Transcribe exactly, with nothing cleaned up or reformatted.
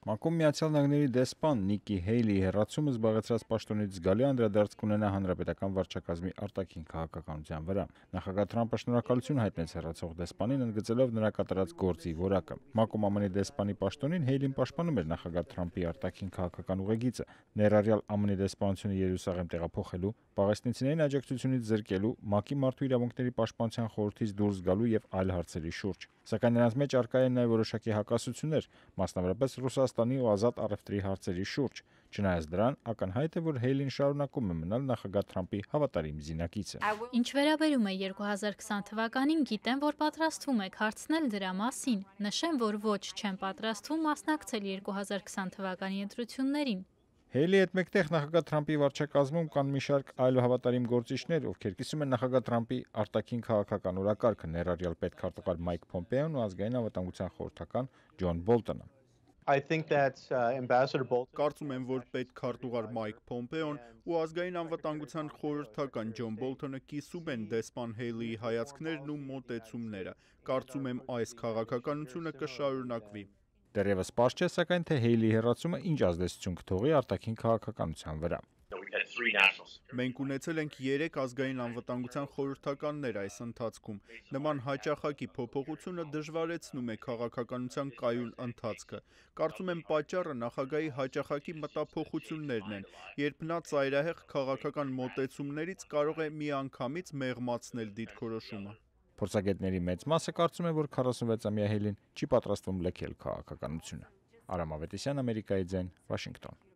Մանկում Միացյալ Նահանգների դեսպան Նիկի Հեյլիի հեռացումը զբաղեցրած պաշտոնից զգալի անդրադարձ կունենա հանրապետական վարչակազմի արտաքին քաղաքականության վրա։ Նախագահ Թրամփը շնորհակալություն հայտնեց հեռացող դեսպանին, ընդգծելով նրա կատարած գործի որակը։ Մանկում ԱՄՆ-ի դեսպանի պաշտոնին Հեյլին պաշտպանում էր նախագահ Թրամփի արտաքին քաղաքական ուղեգիծը, ներառյալ ԱՄՆ-ի դեսպանությունը Երուսաղեմ տեղափոխելու, պաղեստինցիներին աջակցությունից զրկելու, ՄԱԿ-ի մարդու իրավունքների պաշտպանության խորհրդից դուրս գալու եւ այլ հարցերի շուրջ։ Սակայն նրանց մեջ առկա են նաև որոշակի հակասություններ, մասնավորապես Ռուսաստանի ու ազատ առևտրի հարցերի շուրջ։ Չնայած դրան, ակնհայտ է, որ Հեյլին շարունակում է մնալ նախագահ Թրամփի հավատարիմ զինակիցը։ Ինչ վերաբերում է երկու հազար քսան թվականին, գիտեմ, որ պատրաստվում եք հարցնել դրա մասին։ Նշեմ, որ ոչ չեմ պատրաստվում մասնակցել երկու հազար քսան թվականի ընտրություններին։ Հեյլի հետ մեկտեղ նախագահ Թրամփի վարչակազմում կան մի շարք այլ հավատարիմ գործիչներ, ովքեր կիսում են նախագահ Թրամփի արտաքին քաղաքական օրակարգը, ներառյալ պետքարտուղար Մայք Փոմպեոն ու ազգային անվտանգության խորհրդական Ջոն Բոլտոնը։ Կարծում եմ, որ պետքարտուղար Մայք Փոմպեոն ու ազգային անվտանգության խորհրդական Ջոն Բոլտոնը կիսում են դեսպան Հեյլիի հայացքներն ու մոտեցումները։ Կարծում եմ, այս քաղաքականությունը կշարունակվի։ Դեռևս պարզ չէ, սակայն, թե Հեյլիի հեռացումը ինչ ազդեցություն կթողի արտաքին քաղաքականության վրա։ Մենք ունեցել ենք երեք ազգային անվտանգության խորհրդականներ այս ընթացքում։ Նման հաճախակի փոփոխությունը դժվարեցնում է քաղաքականության կայուն ընթացքը։ Կարծում եմ պատճառը նախագահի հաճախակի մտափոխություններն են, երբ նա ծայրահեղ քաղաքական մոտեցումներից կարող է միանգամից մեղմացնել դիրքորոշումը։ Փորձագետների մեծ մասը կարծում է, որ քառասունվեցամյա Հեյլին չի պատրաստվում լքել քաղաքականությունը։ Արամ Ավետիսյան, Ամերիկայի ձայն, Վաշինգտոն։